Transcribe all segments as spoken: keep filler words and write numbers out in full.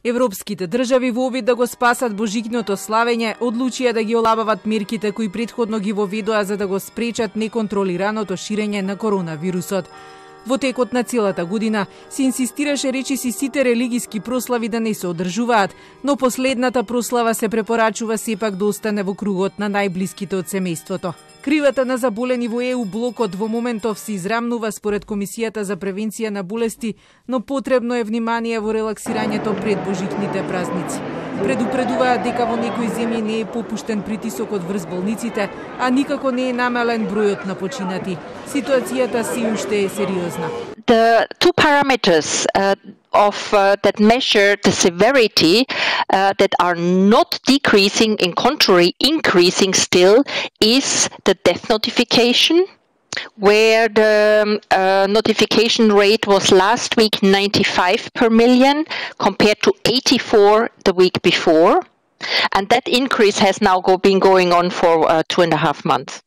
Европските држави во обид да го спасат божикното славење, одлучија да ги олабават мерките кои претходно ги воведоа за да го спречат неконтролираното ширење на коронавирусот. Во текот на целата година се инсистираше речиси сите религиски прослави да не се одржуваат, но последната прослава се препорачува сепак да остане во кругот на најблиските од семејството. Кривата на заболени во Е У блокот во моментов се израмнува според Комисијата за превенција на болести, но потребно е внимание во релаксирањето пред божикните празници. Предупредуваат дека во некои земји не е попуштен притисокот врз болниците, а никако не е намален бројот на починати. Ситуацијата се уште е сериозна. The two parameters uh, of uh, that measure the severity uh, that are not decreasing, in contrary increasing still, is the death notification, where the uh, notification rate was last week ninety-five per million compared to eighty-four the week before, and that increase has now go, been going on for uh, two and a half months.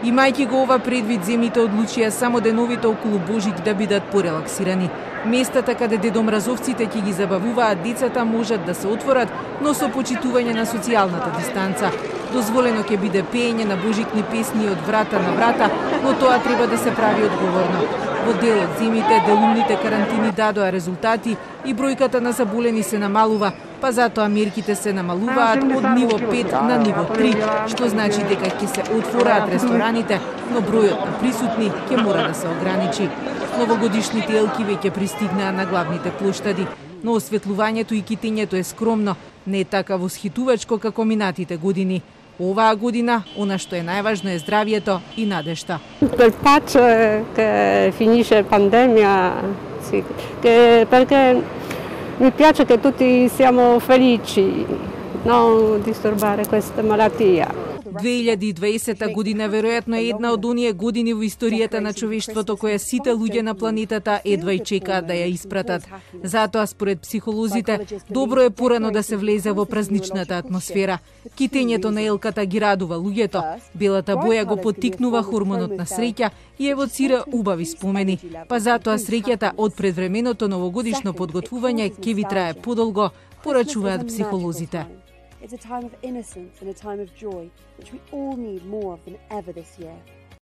Имајќи го ова предвид, земјите одлучија само деновите околу Божик да бидат порелаксирани. Местата каде дедомразовците ќе ги забавуваат децата можат да се отворат, но со почитување на социјалната дистанца. Дозволено ќе биде пеење на божикни песни од врата на врата, но тоа треба да се прави одговорно. Во дел од земјите делумните карантини дадоа резултати и бројката на заболени се намалува, па затоа мерките се намалуваат од ниво пет на ниво три, што значи дека ќе се отвораат рестораните, но бројот на присутни ќе мора да се ограничи. Новогодишните елки веќе пристигнаа на главните плоштади, но осветлувањето и китењето е скромно, не е така восхитувачко како минатите години. Оваа година, она што е најважно е здравието и надежта. Quel pace che finisce pandemia, sì, che, perché mi piace che tutti siamo felici, non disturbare questa malattia. две илјади и дваесета година веројатно е една од оние години во историјата на човештвото која сите луѓе на планетата едва и чекаат да ја испратат. Затоа, според психолозите, добро е порано да се влезе во празничната атмосфера. Китењето на елката ги радува луѓето, белата боја го поттикнува хормонот на среќа и евоцира убави спомени. Па затоа среќата од предвременото новогодишно подготвување ќе ви трае подолго, порачуваат психолозите. It's a time of innocence and a time of joy, which we all need more of than ever this year.